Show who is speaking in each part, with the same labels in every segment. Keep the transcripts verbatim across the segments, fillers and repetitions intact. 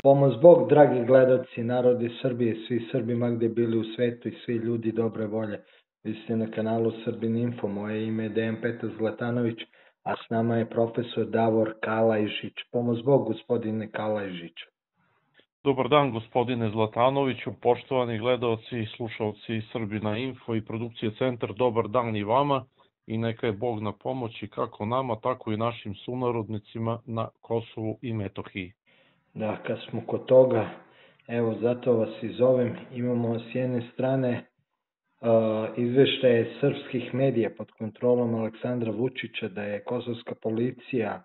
Speaker 1: Pomoz Bog, dragi gledaoci, narodi Srbije, svi Srbi ma gde bili u svetu i svi ljudi dobre volje. Vi ste na kanalu Srbin Info, moje ime je Dejan Petar Zlatanović, a s nama je profesor Davor Kalajžić. Pomoz Bog, gospodine Kalajžić.
Speaker 2: Dobar dan, gospodine Zlatanoviću, poštovani gledaoci i slušalci Srbina Info i produkcije Centar, dobar dan i vama i neka je Bog na pomoći kako nama, tako i našim sunarodnicima na Kosovu i Metohiji.
Speaker 1: Da, kad smo kod toga, evo zato vas i zovem, imamo s jedne strane uh, izveštaje srpskih medija pod kontrolom Aleksandra Vučića da je kosovska policija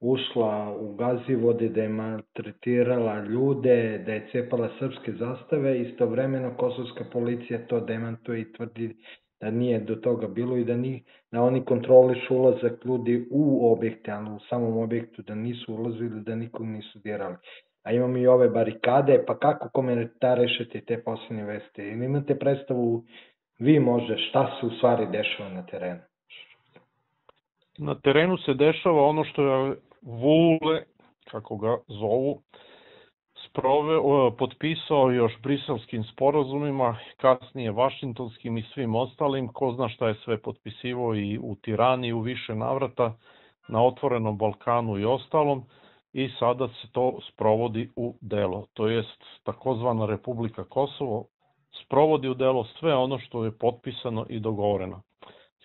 Speaker 1: ušla u Gazivode, da je maltretirala ljude, da je cepala srpske zastave, istovremeno kosovska policija to demantuje i tvrdi da nije do toga bilo i da, ni, da oni kontrolišu ulazak ljudi u objekte, ali u samom objektu da nisu ulazili, da nikog nisu dirali. A imamo i ove barikade, pa kako komentarišete te posljednje veste? Ili imate predstavu vi možda šta se u stvari dešava na terenu?
Speaker 2: Na terenu se dešava ono što je Vule, kako ga zovu, sproveo, potpisao još briselskim sporazumima, kasnije vašingtonskim i svim ostalim, ko zna šta je sve potpisivao i u Tirani i u više navrata, na otvorenom Balkanu i ostalom, i sada se to sprovodi u delo. To jest takozvana Republika Kosovo sprovodi u delo sve ono što je potpisano i dogovoreno.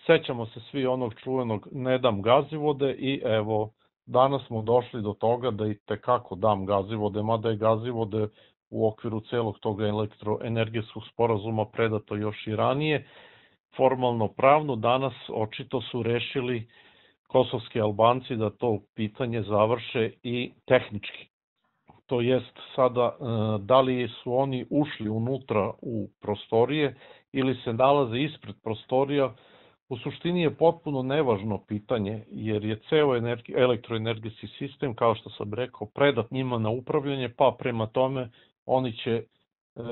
Speaker 2: Sećamo se svi onog čuvenog ne dam Gazivode i evo, danas smo došli do toga da i tekako dam Gazivode, mada je Gazivode u okviru celog toga elektroenergetskog sporazuma predato još i ranije. Formalno pravno danas očito su rešili kosovski Albanci da to pitanje završe i tehnički. To jest sada da li su oni ušli unutra u prostorije ili se nalaze ispred prostorija, u suštini je potpuno nevažno pitanje, jer je ceo elektroenergetski sistem, kao što sam rekao, predat njima na upravljanje, pa prema tome oni će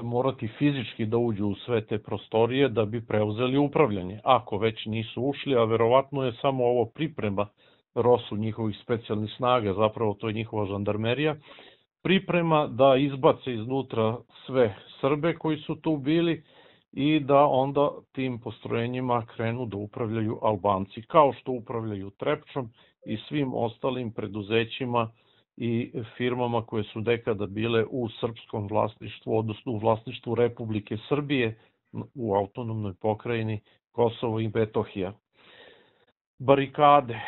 Speaker 2: morati fizički da uđu u sve te prostorije da bi preuzeli upravljanje, ako već nisu ušli, a verovatno je samo ovo priprema rosu njihovih specijalnih snaga, zapravo to je njihova žandarmerija, priprema da izbace iznutra sve Srbe koji su tu bili i da onda tim postrojenjima krenu da upravljaju Albanci, kao što upravljaju Trepčom i svim ostalim preduzećima i firmama koje su nekada bile u srpskom vlasništvu, odnosno u vlasništvu Republike Srbije u autonomnoj pokrajini Kosovo i Metohija. Barikade.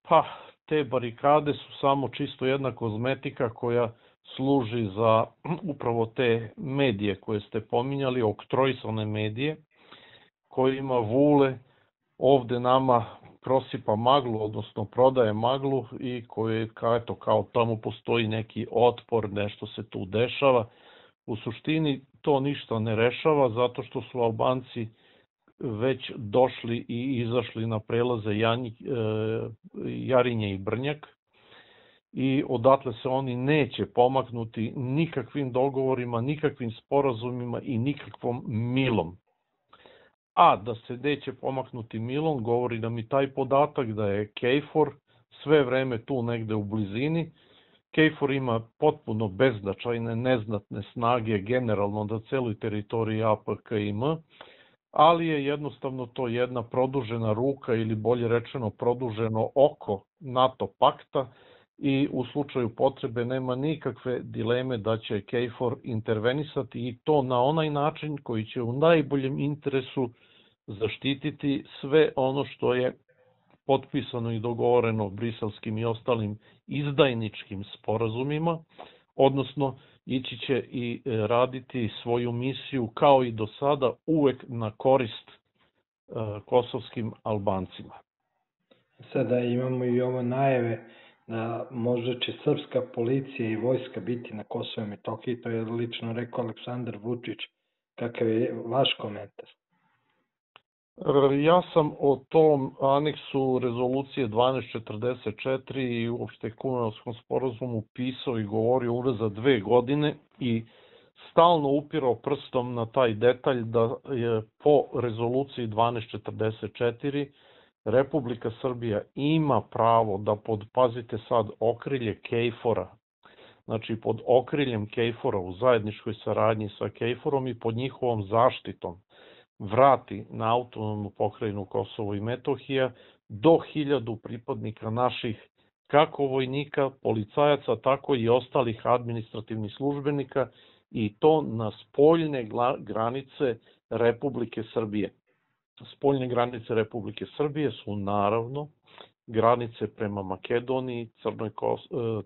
Speaker 2: Pa, te barikade su samo čisto jedna kozmetika koja služi za upravo te medije koje ste pominjali, oktrojsane medije, kojima Vule ovde nama prosipa maglu, odnosno prodaje maglu i koje, eto, kao tamo postoji neki otpor, nešto se tu dešava. U suštini to ništa ne rešava zato što su Albanci već došli i izašli na prelaze Janjik, Jarinje i Brnjak, i odatle se oni neće pomaknuti nikakvim dogovorima, nikakvim sporazumima i nikakvom milom. A da se neće pomaknuti milom, govori nam i taj podatak da je KFOR sve vreme tu negde u blizini. KFOR ima potpuno beznačajne, neznatne snage generalno na celoj teritoriji A P K I M, ali je jednostavno to jedna produžena ruka ili bolje rečeno produženo oko NATO pakta, i u slučaju potrebe nema nikakve dileme da će KFOR intervenisati i to na onaj način koji će u najboljem interesu zaštititi sve ono što je potpisano i dogovoreno briselskim i ostalim izdajničkim sporazumima, odnosno ići će i raditi svoju misiju kao i do sada uvek na korist kosovskim Albancima.
Speaker 1: Sada imamo i ovo najave da možda će srpska policija i vojska biti na Kosovo i Metohiji, to je lično rekao Aleksandar Vučić. Kakav je vaš komentar?
Speaker 2: Ja sam o tom aneksu rezolucije dvanaest četrdeset četiri i uopšte Kumanovskom sporazumu pisao i govorio unazad dve godine i stalno upirao prstom na taj detalj da je po rezoluciji dvanaest četrdeset četiri Republika Srbija ima pravo da pod, pazite sad, okrilje KFOR-a, znači pod okriljem KFOR-a u zajedničkoj saradnji sa KFOR-om i pod njihovom zaštitom vrati na autonomnu pokrajinu Kosovo i Metohija do hiljadu pripadnika naših kako vojnika, policajaca, tako i ostalih administrativnih službenika i to na spoljne granice Republike Srbije. Spoljne granice Republike Srbije su naravno granice prema Makedoniji, Crnoj, Kos,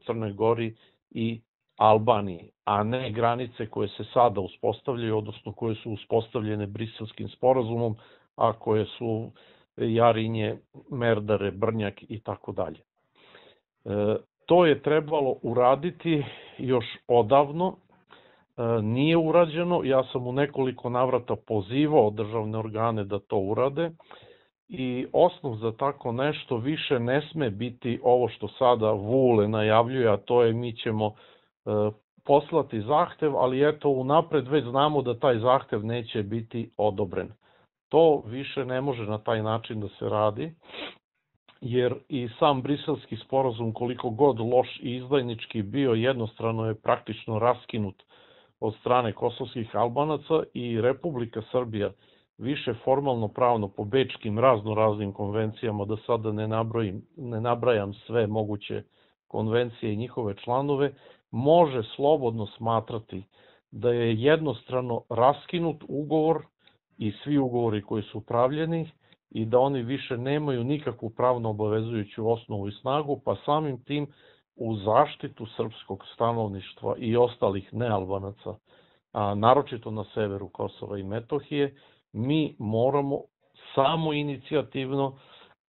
Speaker 2: Crnoj Gori i Albaniji, a ne granice koje se sada uspostavljaju, odnosno koje su uspostavljene Briselskim sporazumom, a koje su Jarinje, Merdare, Brnjak i tako dalje. To je trebalo uraditi još odavno, nije urađeno, ja sam u nekoliko navrata pozivao državne organe da to urade i osnov za tako nešto više ne sme biti ovo što sada Vule najavljuje, a to je mi ćemo poslati zahtev, ali eto unapred već znamo da taj zahtev neće biti odobren. To više ne može na taj način da se radi, jer i sam Briselski sporazum, koliko god loš i izdajnički bio, jednostrano je praktično raskinut od strane kosovskih Albanaca i Republika Srbija više formalno pravno po bečkim razno raznim konvencijama, da sada ne, nabrojim, ne nabrajam sve moguće konvencije i njihove članove, može slobodno smatrati da je jednostrano raskinut ugovor i svi ugovori koji su pravljeni i da oni više nemaju nikakvu pravno obavezujuću osnovu i snagu, pa samim tim u zaštitu srpskog stanovništva i ostalih nealbanaca, a naročito na severu Kosova i Metohije, mi moramo samo inicijativno,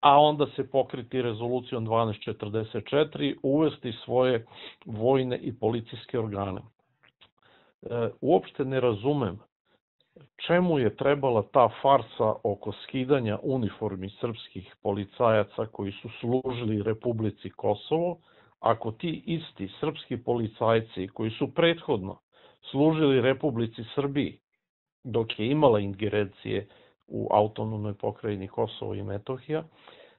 Speaker 2: a onda se pokriti rezolucijom dvanaest četrdeset četiri, uvesti svoje vojne i policijske organe. E, uopšte ne razumem čemu je trebala ta farsa oko skidanja uniformi srpskih policajaca koji su služili Republici Kosovo, ako ti isti srpski policajci koji su prethodno služili Republici Srbiji, dok je imala ingerencije u autonomnoj pokrajini Kosovo i Metohija,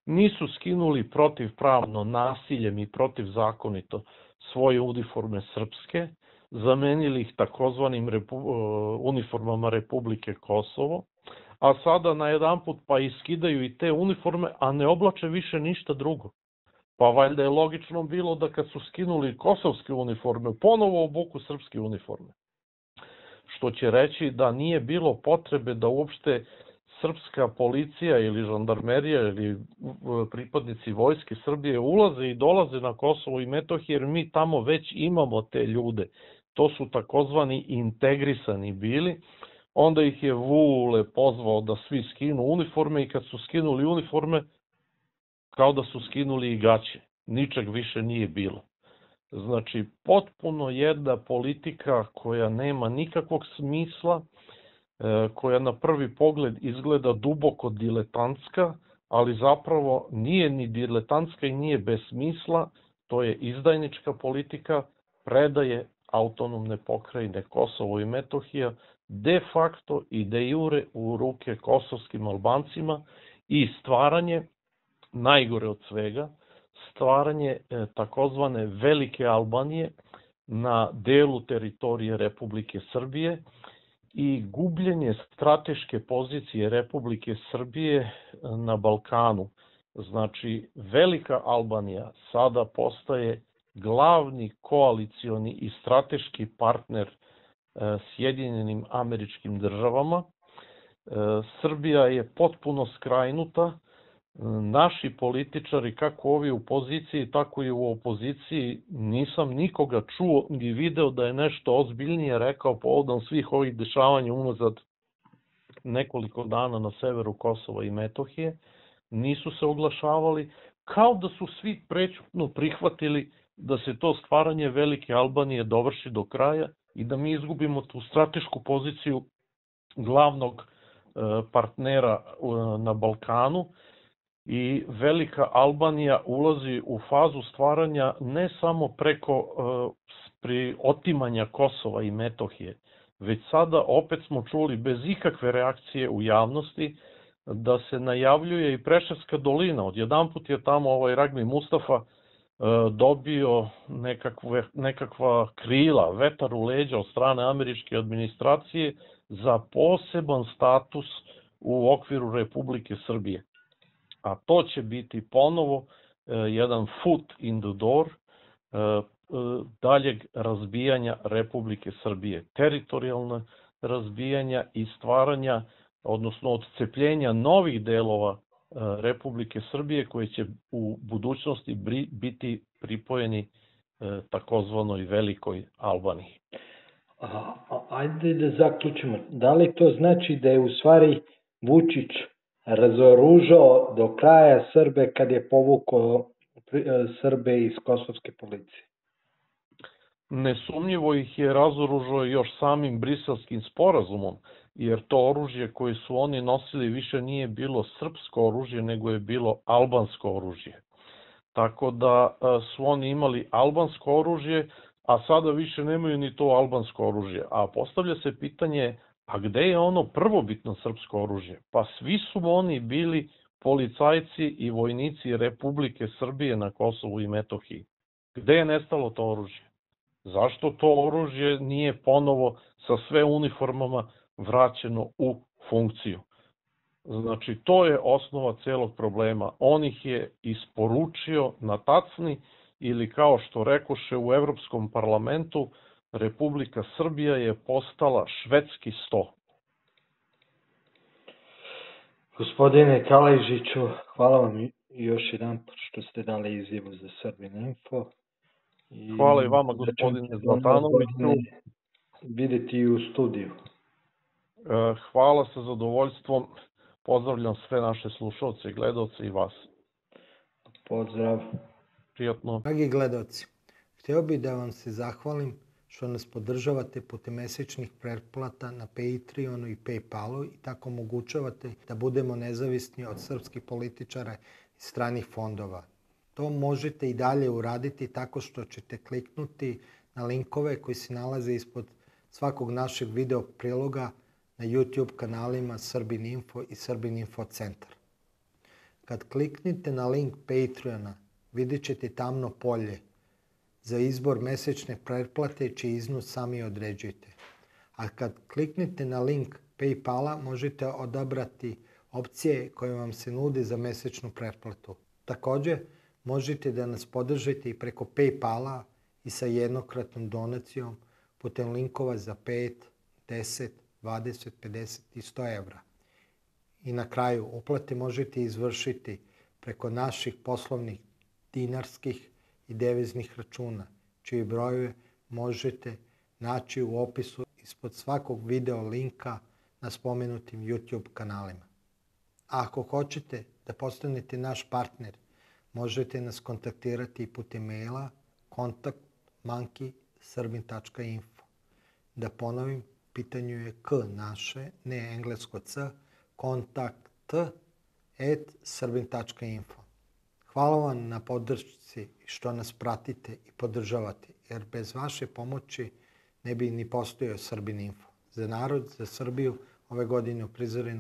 Speaker 2: nisu skinuli protivpravno nasiljem i protivzakonito svoje uniforme srpske, zamenili ih takozvanim repu, uniformama Republike Kosovo, a sada najedanput pa iskidaju i te uniforme, a ne oblače više ništa drugo. Pa valjda je logično bilo da kad su skinuli kosovske uniforme, ponovo obuku srpske uniforme. Što će reći da nije bilo potrebe da uopšte srpska policija ili žandarmerija ili pripadnici vojske Srbije ulaze i dolaze na Kosovo i Metohiju, jer mi tamo već imamo te ljude. To su takozvani integrisani bili. Onda ih je Vule pozvao da svi skinu uniforme i kad su skinuli uniforme, kao da su skinuli i gaće. Ničeg više nije bilo. Znači, potpuno jedna politika koja nema nikakvog smisla, koja na prvi pogled izgleda duboko diletantska, ali zapravo nije ni diletantska i nije bez smisla, to je izdajnička politika, predaje autonomne pokrajine Kosovo i Metohija de facto i de jure u ruke kosovskim Albancima i stvaranje, najgore od svega, stvaranje e, takozvane Velike Albanije na delu teritorije Republike Srbije i gubljenje strateške pozicije Republike Srbije na Balkanu. Znači, Velika Albanija sada postaje glavni koalicioni i strateški partner e, Sjedinjenim Američkim Državama. E, Srbija je potpuno skrajnuta. Naši političari, kako ovi u poziciji, tako i u opoziciji, nisam nikoga čuo ni video da je nešto ozbiljnije rekao povodom svih ovih dešavanja unazad nekoliko dana na severu Kosova i Metohije. Nisu se oglašavali, kao da su svi prećutno prihvatili da se to stvaranje Velike Albanije dovrši do kraja i da mi izgubimo tu stratešku poziciju glavnog partnera na Balkanu. I Velika Albanija ulazi u fazu stvaranja ne samo preko pri otimanja Kosova i Metohije, već sada opet smo čuli bez ikakve reakcije u javnosti da se najavljuje i Preševska dolina. Odjedanput je tamo ovaj Ragmi Mustafa dobio nekakve, nekakva krila, vetar u leđa od strane američke administracije za poseban status u okviru Republike Srbije. A to će biti ponovo jedan foot in the door daljeg razbijanja Republike Srbije, teritorijalne razbijanja i stvaranja, odnosno odcepljenja novih delova Republike Srbije koji će u budućnosti biti pripojeni takozvanoj Velikoj Albaniji.
Speaker 1: A, ajde da zaključimo. Da li to znači da je u stvari Vučić razoružao do kraja Srbe kad je povukao Srbe iz kosovske policije?
Speaker 2: Nesumnjivo ih je razoružao još samim Briselskim sporazumom, jer to oružje koje su oni nosili više nije bilo srpsko oružje, nego je bilo albansko oružje. Tako da su oni imali albansko oružje, a sada više nemaju ni to albansko oružje. A postavlja se pitanje, a gde je ono prvobitno srpsko oružje? Pa svi su oni bili policajci i vojnici Republike Srbije na Kosovu i Metohiji. Gde je nestalo to oružje? Zašto to oružje nije ponovo sa sve uniformama vraćeno u funkciju? Znači, to je osnova celog problema. On ih je isporučio na tacni ili kao što rekoše u Evropskom parlamentu, Republika Srbija je postala švedski sto.
Speaker 1: Gospodine Kalajžiću, hvala vam još jedan što ste dali izjavu za Srbin Info.
Speaker 2: I hvala i vama, gospodine Zlatanoviću.
Speaker 1: Videti i u studiju.
Speaker 2: Hvala sa zadovoljstvom. Pozdravljam sve naše slušalce i gledalce i vas.
Speaker 1: Pozdrav.
Speaker 2: Prijatno.
Speaker 3: Dragi gledalci, htio bih da vam se zahvalim što nas podržavate putem mesečnih pretplata na Patreonu i Paypalu i tako omogućavate da budemo nezavisni od srpskih političara i stranih fondova. To možete i dalje uraditi tako što ćete kliknuti na linkove koji se nalaze ispod svakog našeg video priloga na YouTube kanalima Srbin Info i Srbin Info centar. Kad kliknite na link Patreona, vidjet ćete tamno polje za izbor mesečne pretplate čiji iznos sami određujete. A kad kliknete na link Paypala, možete odabrati opcije koje vam se nude za mesečnu pretplatu. Također, možete da nas podržite i preko Paypala i sa jednokratnom donacijom putem linkova za pet, deset, dvadeset, pedeset i sto evra. I na kraju, uplate možete izvršiti preko naših poslovnih dinarskih i deviznih računa, čiji brojeve možete naći u opisu ispod svakog video linka na spomenutim YouTube kanalima. A ako hoćete da postanete naš partner, možete nas kontaktirati putem maila kontakt monkey srbin tačka info. Da ponovim, pitanju je k naše, ne englesko c, kontakt at srbin tačka info. Hvala vam na podršci što nas pratite i podržavate, jer bez vaše pomoći ne bi ni postojao Srbin Info. Za narod, za Srbiju, ove godine uprizoreno